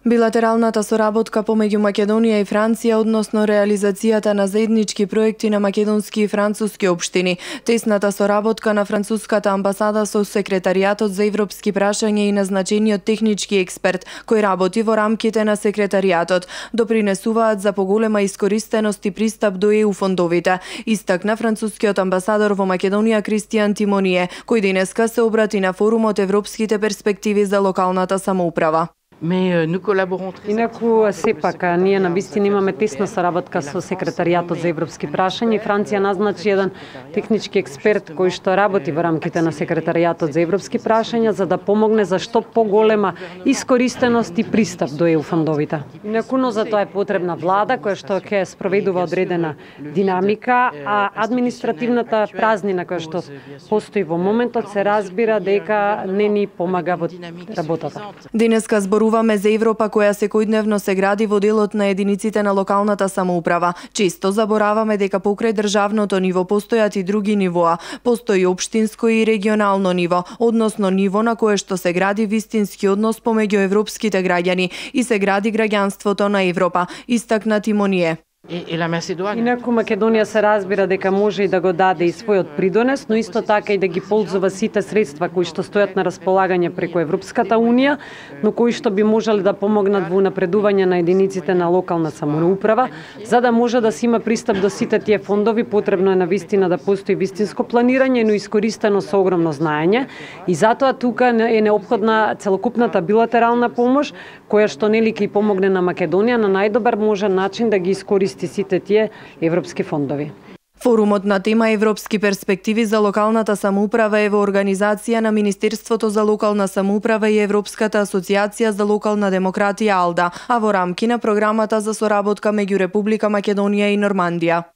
Билатералната соработка помеѓу Македонија и Франција односно реализацијата на заеднички проекти на македонски и француски општини, тесната соработка на француската амбасада со секретаријатот за европски прашања и назначениот технички експерт кој работи во рамките на секретаријатот допринесуваат за поголема искористеност и пристап до ЕУ фондовите, истакна францускиот амбасадор во Македонија Кристијан Тимоние, кој денеска се обрати на форумот Европските перспективи за локалната самоуправа. Инаку сепак ние навистина имаме тесна соработка со секретаријатот за европски прашања и Франција назначи еден технички експерт кој што работи во рамките на секретаријатот за европски прашања за да помогне за што поголема искористеност и пристап до ЕУ фондовите. Инаку но за тоа е потребна влада која што ќе спроведува одредена динамика, а административната празнина која што постои во моментот се разбира дека не ни помага во работата. Денеска зборуваме за Европа која секојдневно се гради во делот на единиците на локалната самоуправа. Често забораваме дека покрај државното ниво постојат и други нивоа. Постои општинско и регионално ниво, односно ниво на кое што се гради вистински однос помеѓу европските граѓани и се гради граѓанството на Европа, истакна Тимоние. Инаку Македонија се разбира дека може и да го даде и својот придонес, но исто така и да ги ползува сите средства кои што стојат на располагање преку Европската унија, но кои што би можеле да помогнат во напредување на единиците на локална самоуправа. За да може да се има пристап до сите тие фондови, потребно е навистина да постои вистинско планирање, но искористено со огромно знаење. И затоа тука е неопходна целокупната билатерална помош, која што нели ќе помогне на Македонија на најдобар можен начин да ги искористи сите тие европски фондови. Форумот на тема Европски перспективи за локалната самоуправа е во организација на Министерството за локална самоуправа и Европската асоциација за локална демократија АЛДА, а во рамки на програмата за соработка меѓу Република Македонија и Нормандија.